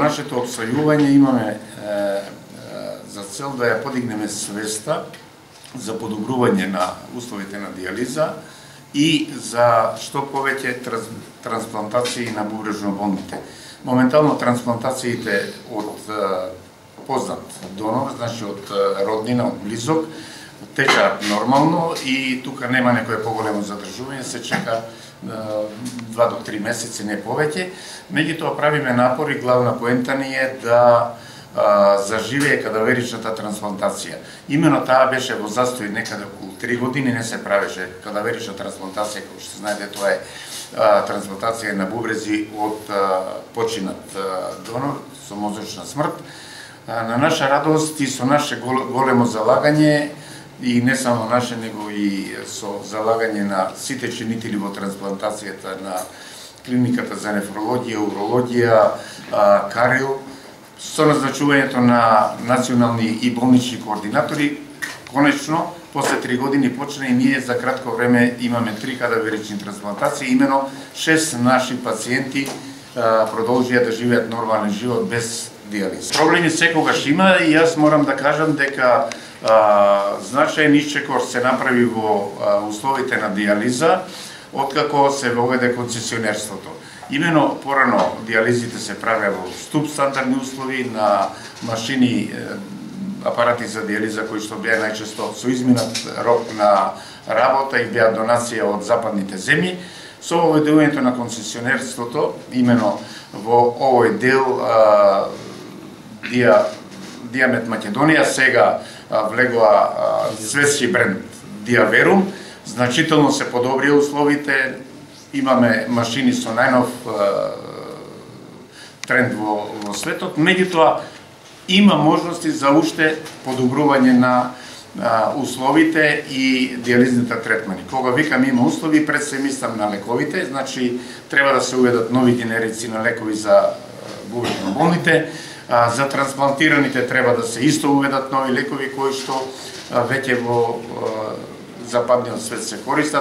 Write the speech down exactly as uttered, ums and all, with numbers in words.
нашето обстојување имаме е, е, за цел да ја подигнеме свеста за подобрување на условите на дијализа и за што повеќе транс, трансплантации на бубрежно болните. Моментално трансплантациите од познат донор, значи од роднина, од близок, течаат нормално и тука нема некое поголемо задржување, се чека два до три месеци, не повеќе. Меѓутоа правиме напори, главна поента ни е да а, заживее кадаверичната трансплантација. Имено таа беше во застој некаде околу три години, не се правеше кадаверична трансплантација, како што знаете, тоа е а, трансплантација на бубрези од а, починат а, донор со мозочна смрт. А, на наша радост и со наше големо залагање, и не само наше, него и со залагање на сите чинители во трансплантацијата на клиниката за нефрологија, урологија, Карил, со назначувањето на национални и болнични координатори, конечно, после три години почна и ние за кратко време имаме три кадаверични трансплантации, имено шест наши пациенти продолжија да живеат нормален живот без дијализа. Проблеми секогаш има и јас морам да кажам дека а, значаен исчекор се направи во а, условите на дијализа откако се воведе концесионерството. Имено порано дијализите се правеа во ступ стандардни услови на машини, апарати за дијализа кои што беа најчесто со изминат рок на работа и беа донација од западните земји. Со воведувањето на концесионерството, имено во овој дел а, Диа, Диамет Македонија сега а, влегоа светски бренд Диаверум, значително се подобрија условите, имаме машини со најнов а, тренд во, во светот, меѓутоа има можности за уште подобрување на а, условите и дијализните третмани. Кога викам има услови, пред се мислам на лековите, значи треба да се уведат нови генерици на лекови за бубрежно болните. А, за трансплантираните треба да се исто уведат нови лекови кои што а, веќе во а, западниот свет се користат.